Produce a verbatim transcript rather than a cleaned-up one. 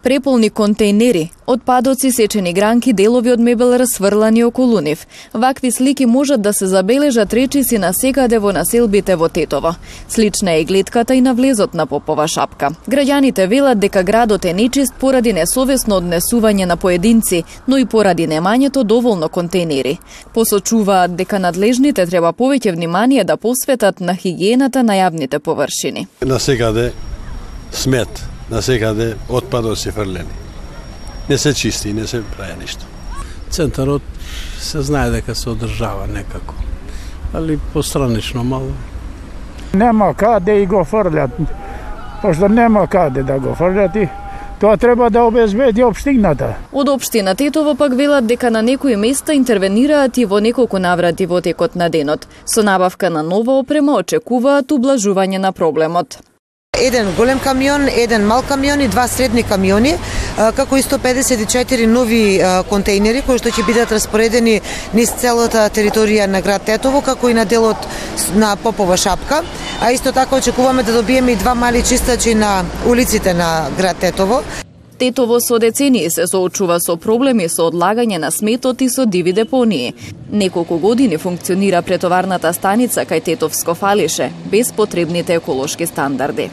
Преполни контейнери, отпадоци, сечени гранки, делови од мебел расфрлани околу нив. Вакви слики можат да се забележат речиси насекаде во населбите во Тетово. Слична е гледката и на влезот на Попова шапка. Граѓаните велат дека градот е нечист поради несовесно однесување на поединци, но и поради немањето доволно контейнери. Посочуваат дека надлежните треба повеќе внимание да посветат на хигиената на јавните површини. Насекаде смет, насекаде отпадоци фрлени. Не се чисти, не се прави ништо. Центарот се знае дека се одржава некако, али постранично мало. Нема каде и го фрлят, пошто нема каде да го фрлят и тоа треба да обезбеди општината. Од општина Тетово пак велат дека на некои места интервенираат и во неколку наврати во текот на денот. Со набавка на нова опрема очекуваат ублажување на проблемот. Еден голем камион, еден мал камион и два средни камиони, како и сто педесет и четири нови контейнери кои што ќе бидат распоредени низ целата територија на град Тетово, како и на делот на Попова шапка. А исто така очекуваме да добиеме и два мали чистачи на улиците на град Тетово. Тетово со децении се соочува со проблеми со одлагање на сметот и со диви депонии. Неколку години функционира претоварната станица кај Тетовско фалише, без потребните еколошки стандарди.